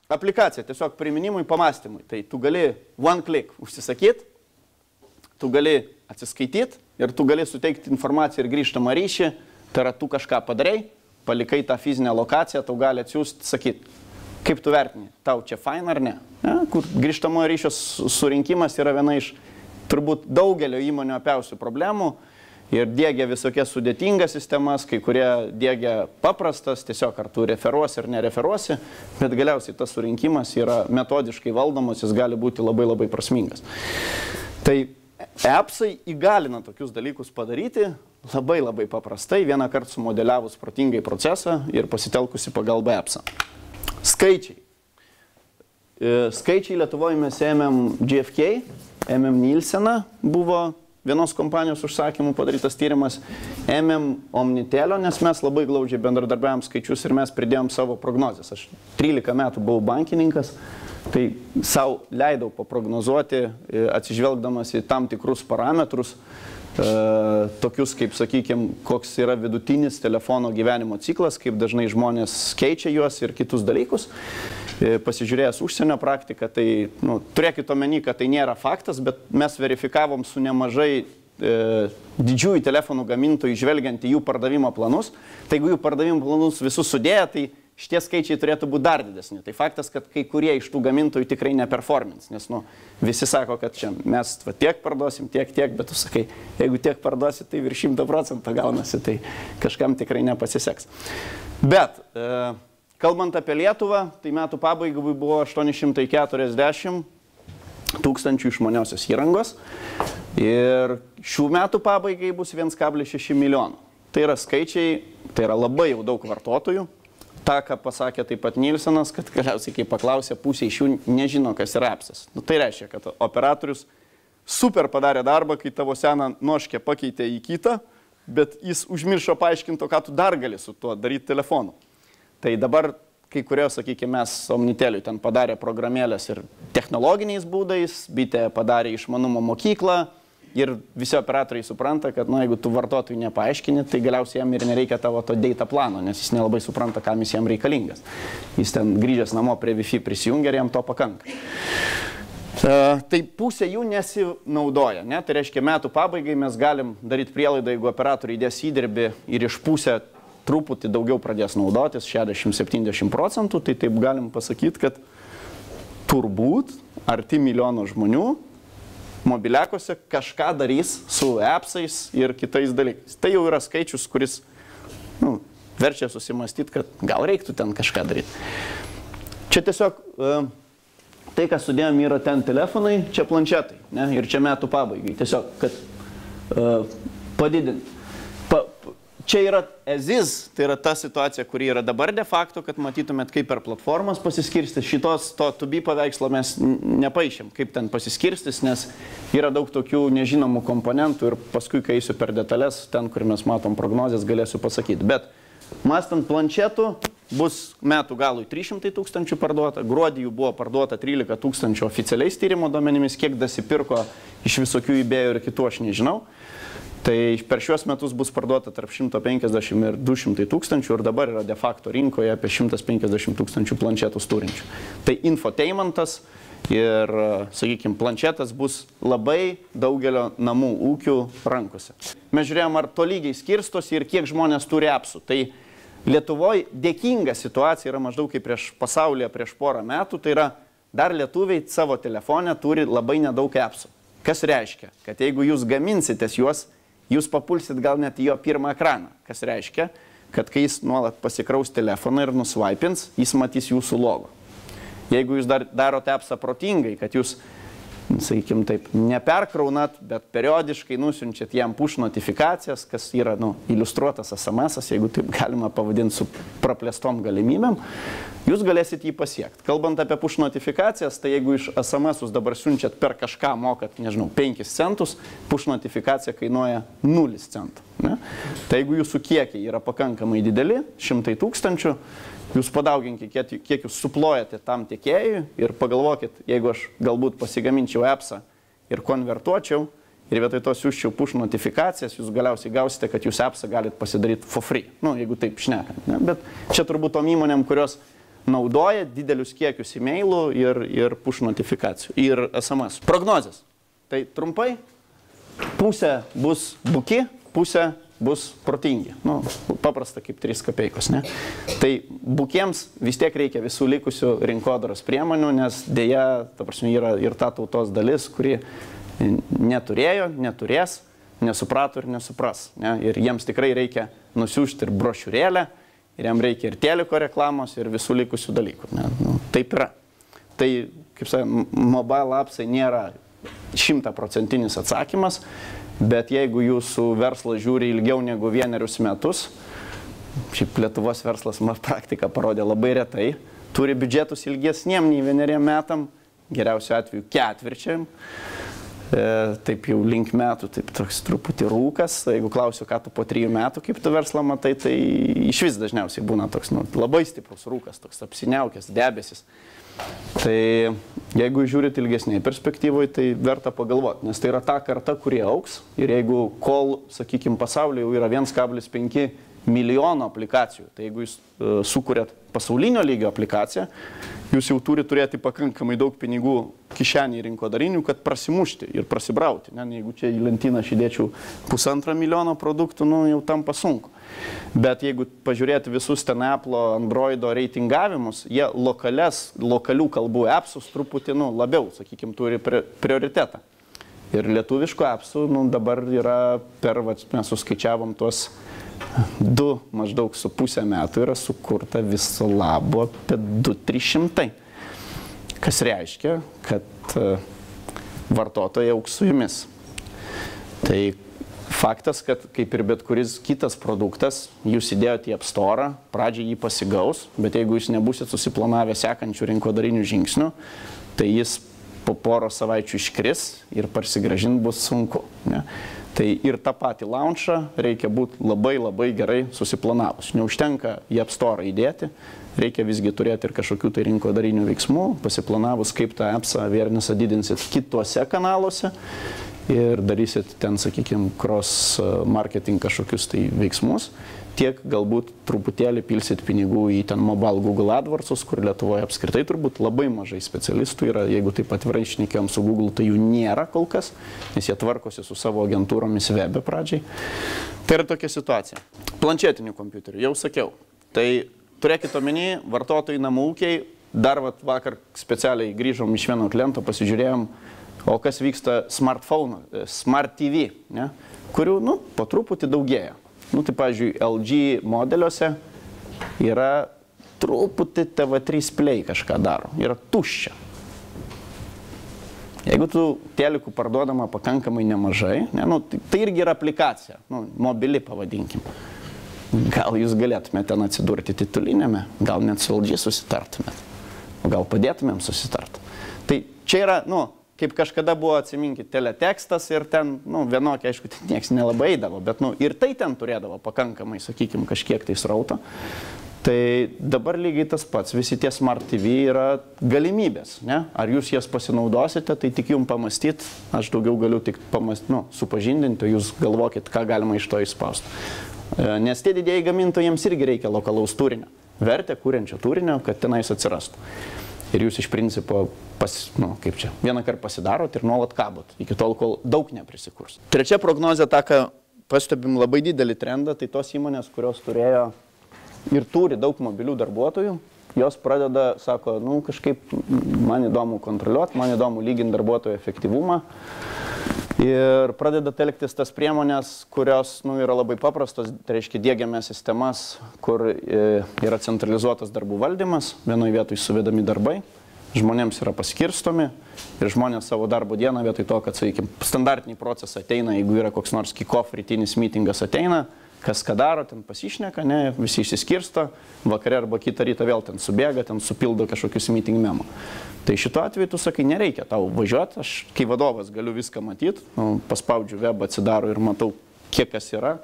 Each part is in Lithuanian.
aplikacija tiesiog priminimui, pamastymui. Tai tu gali one click užsisakyti, tu gali atsiskaityti ir tu gali suteikti informaciją ir grįžtamą ryšį. Tai yra, tu kažką padarai, palikai tą fizinę lokaciją, tau gali atsiųsti, sakyti, kaip tu vertini, tau čia fain ar ne. Kur grįžtamojo ryšio surinkimas yra viena iš turbūt daugelio įmonių apiausių problemų ir diegia visokias sudėtingas sistemas, kai kurie diegia paprastas, tiesiog ar tu referuosi ar nereferuosi, bet galiausiai tas surinkimas yra metodiškai valdomas, jis gali būti labai labai prasmingas. Tai appsai įgalina tokius dalykus padaryti labai labai paprastai, vieną kartą sumodeliavus protingai procesą ir pasitelkusi pagalbą appsą. Skaičiai. Skaičiai Lietuvoje mes ėmėm GfK, ėmėm Nielseną, buvo vienos kompanijos užsakymų padarytas tyrimas, ėmėm Omnitelio, nes mes labai glaudžiai bendradarbiavom skaičius ir mes pridėjom savo prognozes. Aš 13 metų buvau bankininkas, tai savo leidau paprognozuoti, atsižvelgdamas į tam tikrus parametrus, tokius kaip, sakykime, koks yra vidutinis telefono gyvenimo ciklas, kaip dažnai žmonės keičia juos ir kitus dalykus. Pasižiūrėjęs užsienio praktiką, tai turėkit omeny, kad tai nėra faktas, bet mes verifikavom su nemažai didžiųjų telefonų gamintojų žvelgiant į jų pardavimo planus. Tai jeigu jų pardavimo planus visus sudėję, tai šitie skaičiai turėtų būti dar didesni. Tai faktas, kad kai kurie iš tų gamintojų tikrai neperformins, nes visi sako, kad čia mes tiek parduosim, tiek, bet tu sakai, jeigu tiek parduosi, tai virš 100% gaunasi, tai kažkam tikrai nepasiseks. Bet kalbant apie Lietuvą, tai metų pabaigai buvo 840 tūkstančių išmaniosios įrangos ir šių metų pabaigai bus 1,6 milijono. Tai yra skaičiai, tai yra labai jau daug vartotojų. Ta, ką pasakė taip pat Nielsenas, kad galiausiai, kai paklausė, pusė iš jų nežino, kas yra appsas. Tai reiškia, kad operatorius super padarė darbą, kai tavo seną noškę pakeitė į kitą, bet jis užmiršo paaiškinti, ką tu dar gali su tuo daryti telefonu. Tai dabar kai kurios, sakykime, mes Omniteliui ten padarė programėlės ir technologiniais būdais, bitė padarė išmanumo mokyklą ir visi operatoriai supranta, kad jeigu tu vartotojui nepaaiškini, tai galiausiai jam ir nereikia tavo to data plano, nes jis nelabai supranta, kam jis jam reikalingas. Jis ten grįžęs namo prie Wi-Fi prisijungia ir jam to pakanka. Tai pusė jų nesinaudoja, ne? Tai reiškia, metų pabaigai mes galim daryti prielaidą, jeigu operatoriai įdės įdirbį ir iš pusę truputį daugiau pradės naudotis, 60-70%, tai taip galim pasakyti, kad turbūt arti milijono žmonių mobiliakose kažką darys su appsais ir kitais dalykais. Tai jau yra skaičius, kuris verčia susimastyti, kad gal reiktų ten kažką daryti. Čia tiesiog tai, ką sudėjom, yra ten telefonai, čia planšetai, ne? Ir čia metų pabaigai. Tiesiog, kad padidinti. Čia yra EZIS, tai yra ta situacija, kuri yra dabar de facto, kad matytumėt, kaip per platformas pasiskirstis. Šitos to to be paveikslo mes nepaišėm, kaip ten pasiskirstis, nes yra daug tokių nežinomų komponentų ir paskui, kai eisiu per detalės, ten, kur mes matom prognozes, galėsiu pasakyti. Bet mąstant planšetų, bus metų galui 300 tūkstančių parduota, gruodį jų buvo parduota 13 tūkstančių oficialiais tyrimo duomenimis, kiek dasipirko iš visokių eBay'ų ir kitų, aš nežinau. Tai per šiuos metus bus parduota tarp 150 ir 200 tūkstančių ir dabar yra de facto rinkoje apie 150 tūkstančių planšetus turinčių. Tai infotainmentas ir, sakykime, planšetas bus labai daugelio namų ūkių rankose. Mes žiūrėjom, ar tolygiai skirstosi ir kiek žmonės turi appsų. Tai Lietuvoje dėkinga situacija yra maždaug kaip pasaulyje prieš porą metų. Tai yra, dar lietuviai savo telefone turi labai nedaug appsų. Kas reiškia, kad jeigu jūs gaminsitės juos, jūs papulsit gal net į jo pirmą ekraną. Kas reiškia, kad kai jis nuolat pasikraus telefoną ir nusvaipins, jis matys jūsų logo. Jeigu jūs darote appsą protingai, kad jūs, sakykime taip, neperkraunat, bet periodiškai nusiunčiat jam push notifikacijas, kas yra iliustruotas SMS-as, jeigu taip galima pavadinti su praplėstom galimybėm, jūs galėsit jį pasiekti. Kalbant apie push notifikacijas, tai jeigu iš SMS-us dabar siunčiat per kažką mokat, nežinau, 5 centus, push notifikacija kainuoja 0 centų. Ne? Tai jeigu jūsų kiekiai yra pakankamai dideli, 100 tūkstančių, jūs padauginkit, kiek jūs suplojate tam tiekėjui ir pagalvokit, jeigu aš galbūt pasigaminčiau appsą ir konvertuočiau ir vietoj to siūsčiau push notifikacijas, jūs galiausiai gausite, kad jūs appsą galite pasidaryti for free. Jeigu taip šnekant. Ne? Bet čia turbūt tom įmonėm, kurios naudoja didelius kiekius e-mailų ir push notifikacijų, ir SMS. Prognozės. Tai trumpai, pusė bus buki, pusė bus protingi. Nu, paprasta kaip 3 kapeikos, ne? Tai bukiems vis tiek reikia visų likusių rinkodaros priemonių, nes dėja, ta prasme, yra ir ta tautos dalis, kuri neturėjo, neturės, nesuprato ir nesupras. Ne? Ir jiems tikrai reikia nusiųsti ir brošiūrėlę, ir jiems reikia ir teliko reklamos, ir visų likusių dalykų. Ne? Nu, taip yra. Tai, kaip sakė, mobile appsai nėra 100% atsakymas, bet jeigu jūsų verslas žiūri ilgiau negu 1 metus, šiaip Lietuvos verslas praktika parodė labai retai, turi biudžetus ilgesniem nei 1 metam, geriausiu atveju 4, taip jau link metų, taip toks truputį rūkas. Jeigu klausiu, ką tu po 3 metų, kaip tu verslą matai, tai iš vis dažniausiai būna toks labai stiprus rūkas, toks apsiniaukęs debesis. Tai jeigu žiūrit ilgesniai perspektyvoje, tai verta pagalvoti, nes tai yra ta karta, kurie auks. Ir jeigu kol, sakykime, pasaulyje jau yra 1,5 milijono aplikacijų, tai jeigu jūs sukūrėt pasaulinio lygio aplikaciją, jūs jau turi turėti pakankamai daug pinigų kišenį rinkodarinių, kad prasimušti ir prasibrauti. Ne? Jeigu čia į lentyną aš įdėčiau 1,5 milijono produktų, nu, jau tampa sunku. Bet jeigu pažiūrėti visus ten Apple, Androido reitingavimus, jie lokalių kalbų appsus truputį labiau, sakykime, turi prioritetą. Ir lietuviškų appsų dabar yra mes suskaičiavom tuos 2 maždaug su pusę metų yra sukurta viso labo apie 200-300. Kas reiškia, kad vartotojai augs su jumis. Tai faktas, kad kaip ir bet kuris kitas produktas, jūs įdėjote į App Store, pradžiai jį pasigaus, bet jeigu jūs nebūsit susiplanavę sekančių rinkodarinių žingsnių, tai jis po poros savaičių iškris ir parsigrąžinti bus sunku. Ne? Tai ir tą patį launchą reikia būti labai gerai susiplanavus. Neužtenka į App Store įdėti, reikia visgi turėti ir kažkokių tai rinkodarinių veiksmų, pasiplanavus, kaip tą appsą awarenessą didinsit kituose kanaluose ir darysit ten, sakykime, cross marketing kažkokius tai veiksmus. Tiek galbūt truputėlį pilsit pinigų į ten mobile Google AdWords, kur Lietuvoje apskritai turbūt labai mažai specialistų yra. Jeigu taip atvirai šnekėjom su Google, tai jų nėra kol kas, nes jie tvarkosi su savo agentūromis webe pradžiai. Tai yra tokia situacija. Planšetinių kompiuterių, jau sakiau. Tai turėkit omeny, vartotojai, namų ūkiai, dar vakar specialiai grįžom iš vieno kliento, pasižiūrėjom, o kas vyksta smartphone, smart TV, ne? Kurių, po truputį daugėja. Tai, pavyzdžiui, LG modeliuose yra truputį TV3 Play kažką daro. Yra tuščia. Jeigu tu telikų parduodama pakankamai nemažai, ne, tai irgi yra aplikacija, mobili pavadinkim. Gal jūs galėtumėte ten atsidurti titulinėme, gal net su LG susitartumėt, o gal padėtumėm susitart. Tai čia yra, kaip kažkada buvo, atsiminkit, teletekstas ir ten, vienokia, aišku, ten nieks nelabai eidavo, bet, ir tai ten turėdavo pakankamai, sakykime, kažkiek tai srauto. Tai dabar lygiai tas pats, visi tie Smart TV yra galimybės, ne? Ar jūs jas pasinaudosite, tai tik jums pamastyti, aš daugiau galiu tik supažindinti, jūs galvokit, ką galima iš to išspausti. Nes tie didieji gamintojai jiems irgi reikia lokalaus turinio, vertę kuriančio turinio, kad tenais atsirastų. Ir jūs iš principo, vieną kartą pasidarot ir nuolat kabot, iki tol, kol daug neprisikurs. Trečia prognozė, tą, ką pastebim labai didelį trendą, tai tos įmonės, kurios turėjo ir turi daug mobilių darbuotojų, jos pradeda, sako, kažkaip man įdomu kontroliuoti, man įdomu lyginti darbuotojų efektyvumą. Ir pradeda telktis tas priemonės, kurios yra labai paprastos, tai reiškia diegiame sistemas, kur yra centralizuotas darbų valdymas, vienoje vietoje suvedami darbai, žmonėms yra paskirstomi ir žmonės savo darbo dieną vietoj to, kad, sakykime, standartiniai procesai ateina, jeigu yra koks nors kick-off rytinis meetingas ateina, kas ką daro, ten pasišneka, ne, visi išsiskirsto, vakare arba kitą rytą vėl ten subėga, ten supildo kažkokius meeting memo. Tai šituo atveju tu sakai, nereikia tau važiuoti, aš kai vadovas galiu viską matyti, paspaudžiu webą, atsidaro ir matau, kiek kas yra,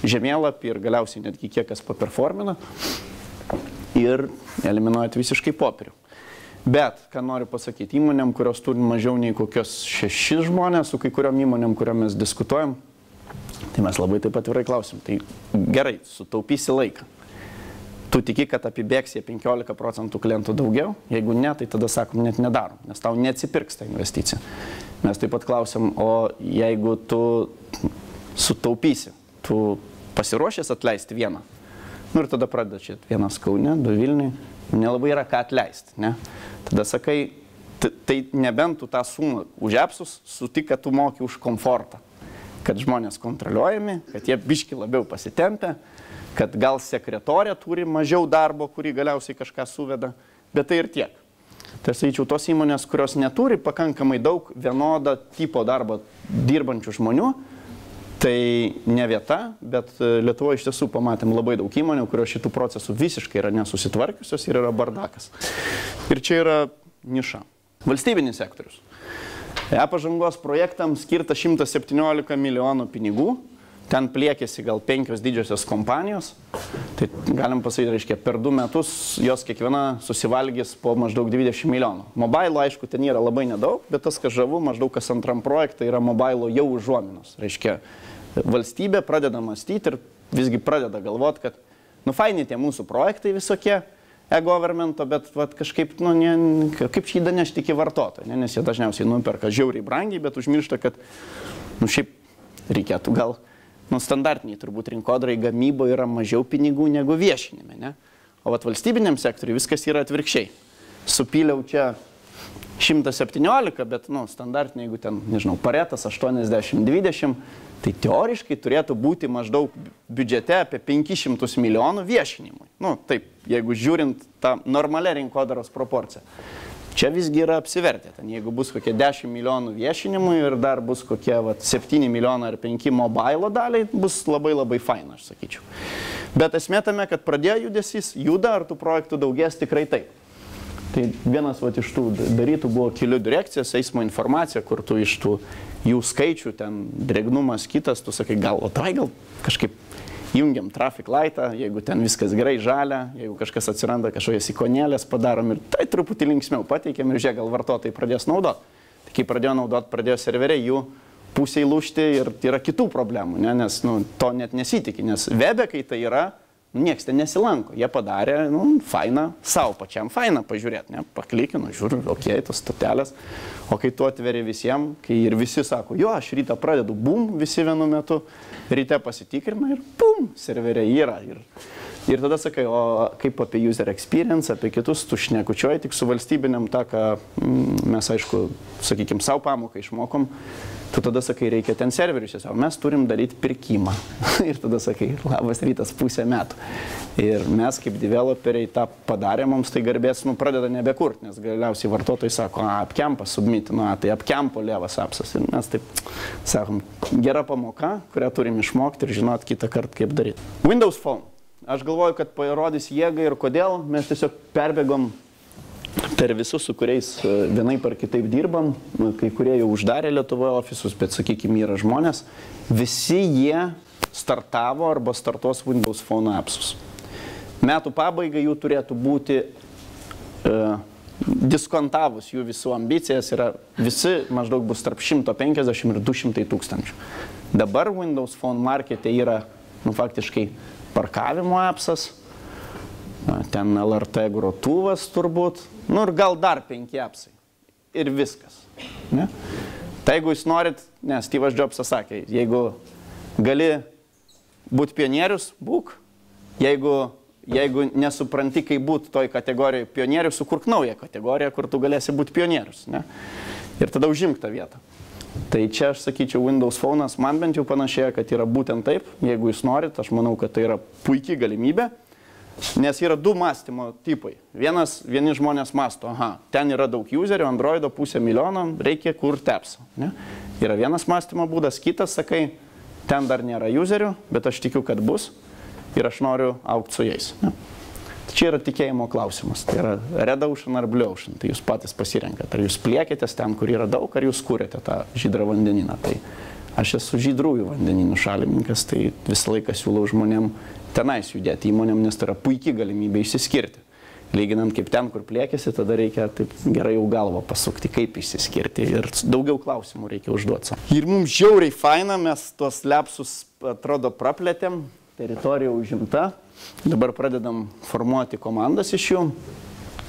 žemėlapį ir galiausiai netgi kiek kas paperformina ir eliminuojat visiškai popierių. Bet, ką noriu pasakyti, įmonėm, kurios turi mažiau nei kokios 6 žmonės, su kai kuriom įmonėm, kuriom mes diskutuojam, tai mes labai taip atvirai klausim, tai gerai, sutaupysi laiką. tu tiki, kad apibėgs jie 15% klientų daugiau, jeigu ne, tai tada sakom, net nedarom, nes tau neatsipirks ta investicija. Mes taip pat klausim, o jeigu tu sutaupysi, tu pasiruošęs atleisti vieną. Nu ir tada pradeda čia vienas Kaune, 2 Vilniui, nelabai yra ką atleisti, ne? Tada sakai, tai nebent tu tą sumą už apsus sutik, kad tu moki už komfortą, kad žmonės kontroliuojami, kad jie biški labiau pasitempia, kad gal sekretorė turi mažiau darbo, kurį galiausiai kažką suveda, bet tai ir tiek. Tai aš sakyčiau, tos įmonės, kurios neturi pakankamai daug vienodą tipo darbo dirbančių žmonių, tai ne vieta, bet Lietuvoje iš tiesų pamatėm labai daug įmonių, kurios šitų procesų visiškai yra nesusitvarkiusios ir yra bardakas. Ir čia yra niša. Valstybinis sektorius. E-pažangos projektams skirta 117 milijonų pinigų. Ten pliekėsi gal 5 didžiosios kompanijos, tai galim pasakyti, reiškia, per 2 metus jos kiekviena susivalgys po maždaug 20 milijonų. Mobile, aišku, ten yra labai nedaug, bet tas, kas žavu, maždaug kas antram projektą yra mobile jau užuominos. Reiškia, valstybė pradeda mąstyti ir visgi pradeda galvoti, kad, nu, faini tie mūsų projektai visokie e-governmento, bet vat, kažkaip, nu, kaip šį danešti iki vartotojo, nes jie dažniausiai nuperka žiauriai brangiai, bet užmiršta, kad, nu, šiaip reikėtų gal. Nu, standartiniai turbūt rinkodarai gamyboje yra mažiau pinigų negu viešinime, ne? O vat valstybiniam sektoriui viskas yra atvirkščiai. Supyliau čia 117, bet, nu, standartiniai, jeigu ten, nežinau, paretas 80-20, tai teoriškai turėtų būti maždaug biudžete apie 500 milijonų viešinimui. Nu, taip, jeigu žiūrint tą normalią rinkodaros proporciją. Čia visgi yra apsivertę. Ten, jeigu bus kokie 10 milijonų viešinimui ir dar bus kokie 7 milijonai ar 5 mobile daliai, bus labai labai faina, aš sakyčiau. Bet esmė tame, kad pradėjo judesys, juda, ar tų projektų daugės, tikrai taip. Tai vienas iš tų darytų buvo kelių direkcijas, eismo informacija, kur tu iš tų jų skaičių, ten drėgnumas kitas, tu sakai, gal kažkaip jungiam traffic lightą, jeigu ten viskas gerai žalia, jeigu kažkas atsiranda, kažkokias ikonėlės padarom ir tai truputį linksmiau pateikiam ir žiūrėk, gal vartotojai pradės naudoti. Tai kai pradėjo naudoti, pradėjo serveriai jų pusiai lūžti ir yra kitų problemų, ne? Nes nu, to net nesitikė, nes webe, kai tai yra, nieks ten nesilanko. Jie padarė, nu, fainą, savo pačiam fainą pažiūrėti, ne? Paklikinu, žiūriu, okei, tos stotelės. O kai tu atveri visiems, kai ir visi sako, jo, aš rytą pradedu, bum, visi vienu metu, ryte pasitikrina ir bum, serveriai yra. Ir tada sakai, o kaip apie user experience, apie kitus, tu šnekučioji tik su valstybiniam tą, ką mes, aišku, sakykime, savo pamoką išmokom, tu tada sakai, reikia ten serverius, o mes turim daryti pirkimą. Ir tada sakai, labas rytas, pusę metų. Ir mes kaip developeriai tą padarė, mums tai garbės, nu, pradeda nebekurti, nes galiausiai vartotojai sako, apkempas submit, nu, tai apkempo levas apsas. Ir mes taip sakom, gera pamoka, kurią turim išmokti ir žinot kitą kartą, kaip daryti. Windows Phone. Aš galvoju, kad parodys jėgą ir kodėl mes tiesiog perbėgom per visus, su kuriais vienaip ar kitaip dirbam, kai kurie jau uždarė Lietuvoje ofisus, bet, sakykime, yra žmonės, visi jie startavo arba startuos Windows Phone apsus. Metų pabaigai jų turėtų būti, diskontavus jų visų ambicijas, yra visi maždaug bus tarp 150 ir 200 tūkstančių. Dabar Windows Phone markete yra, nu, faktiškai parkavimo apsas, ten LRT grotuvas turbūt, nu ir gal dar 5 apsai. Ir viskas. Ne? Tai jeigu jūs norit, nes Steve'as Jobsas sakė, jeigu gali būti pionierius, būk. Jeigu nesupranti, kaip būti toj kategorijoje pionierius, sukurk naują kategoriją, kur tu galėsi būti pionierius. Ne? Ir tada užimk tą vietą. Tai čia aš sakyčiau, Windows Phone'as man bent jau panašėja, kad yra būtent taip. Jeigu jūs norit, aš manau, kad tai yra puikiai galimybė. Nes yra 2 mąstymo tipai. Vieni žmonės mąsto, ten yra daug userių, Androido 500 milijono, reikia kurti appsą. Ne? Yra vienas mąstymo būdas, kitas, sakai, ten dar nėra userių, bet aš tikiu, kad bus ir aš noriu augti su jais. Ne? Čia yra tikėjimo klausimas. Tai yra red ocean ar blue ocean. Tai jūs patys pasirenkate. Ar jūs pliekėtės ten, kur yra daug, ar jūs kūrėte tą žydrą vandenyną. Tai aš esu žydrųjų vandenynų šalininkas, tai visą laiką siūlau žmonėm tenais judėti įmonėm, nes tai yra puikiai galimybė išsiskirti. Lyginant kaip ten, kur pliekėsi, tada reikia taip gerai jau galvą pasukti, kaip išsiskirti. Ir daugiau klausimų reikia užduoti. Ir mums žiauriai faina, mes tuos lepsus, atrodo, praplėtėm, teritorija užimta. Dabar pradedam formuoti komandas iš jų.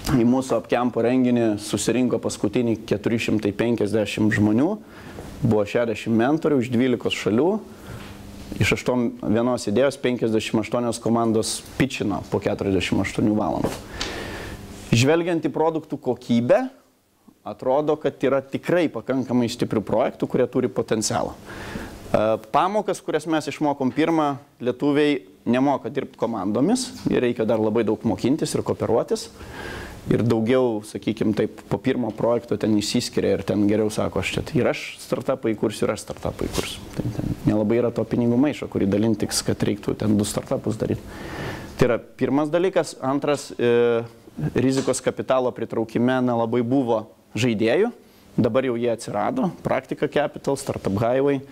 Į mūsų apkempo renginį susirinko paskutinį 450 žmonių, buvo 60 mentorių iš 12 šalių, iš vienos idėjos 58 komandos pitchino po 48 valandų. Žvelgiant į produktų kokybę, atrodo, kad yra tikrai pakankamai stiprių projektų, kurie turi potencialą. Pamokas, kurias mes išmokom pirmą, lietuviai nemoka dirbti komandomis, ir reikia dar labai daug mokintis ir kooperuotis. Ir daugiau, sakykime, taip, po pirmo projekto ten išsiskiria ir ten geriau sako, ir aš startupą įkursiu, ir aš startupą įkursiu. Ten nelabai yra to pinigų maišo, kurį dalinti tiks, kad reiktų ten 2 startupus daryti. Tai yra pirmas dalykas. Antras, rizikos kapitalo pritraukime nelabai buvo žaidėjų. Dabar jau jie atsirado. Praktika Capital, Startup Highway,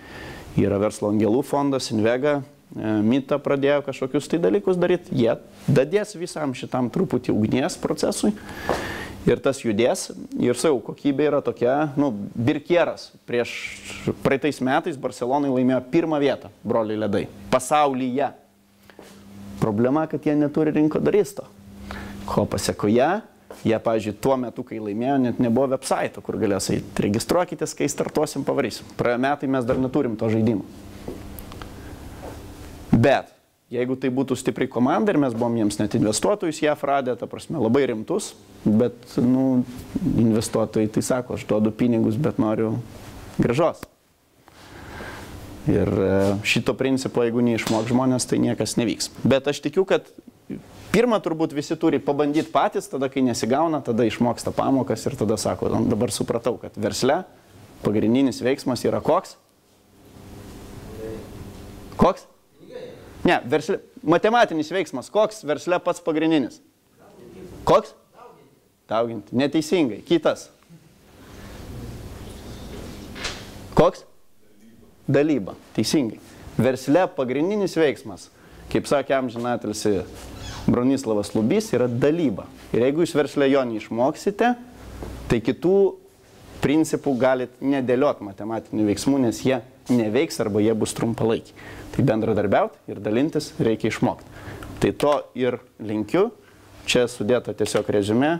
yra verslo angelų fondas, Invega, Mita pradėjo kažkokius tai dalykus daryti, jie dadės visam šitam truputį ugnies procesui ir tas judės. Ir savo kokybė yra tokia, Birkieras praeitais metais Barcelonai laimėjo 1 vietą, broliai ledai, pasaulyje. Problema, kad jie neturi rinkodaristo. Ko pasekoje, jie, pavyzdžiui, tuo metu, kai laimėjo, net nebuvo website, kur galės eiti, registruokitės, kai startuosim, pavarysim. Praėjo metai, mes dar neturim to žaidimo. Bet, jeigu tai būtų stipri komanda ir mes buvom jiems net investuotojus JAF radę, ta prasme, labai rimtus, bet, investuotojai tai sako, aš duodu pinigus, bet noriu grąžos. Ir šito principo, jeigu neišmok žmonės, tai niekas nevyks. Bet aš tikiu, kad pirmą turbūt visi turi pabandyti patys, tada kai nesigauna, tada išmoksta pamokas ir tada sako, dabar supratau, kad versle pagrindinis veiksmas yra koks? Koks? Ne, versle, matematinis veiksmas. Koks versle pats pagrindinis? Koks? Dauginti. Neteisingai. Kitas. Koks? Dalyba. Teisingai. Versle pagrindinis veiksmas, kaip sakė amžinatilsi Bronislavas Lubys, yra dalyba. Ir jeigu jūs versle jo neišmoksite, tai kitų principų galit nedėlioti matematinių veiksmų, nes jie neveiks arba jie bus trumpalaikiai. Tai bendradarbiauti ir dalintis reikia išmokti. Tai to ir linkiu. Čia sudėta tiesiog reziumė.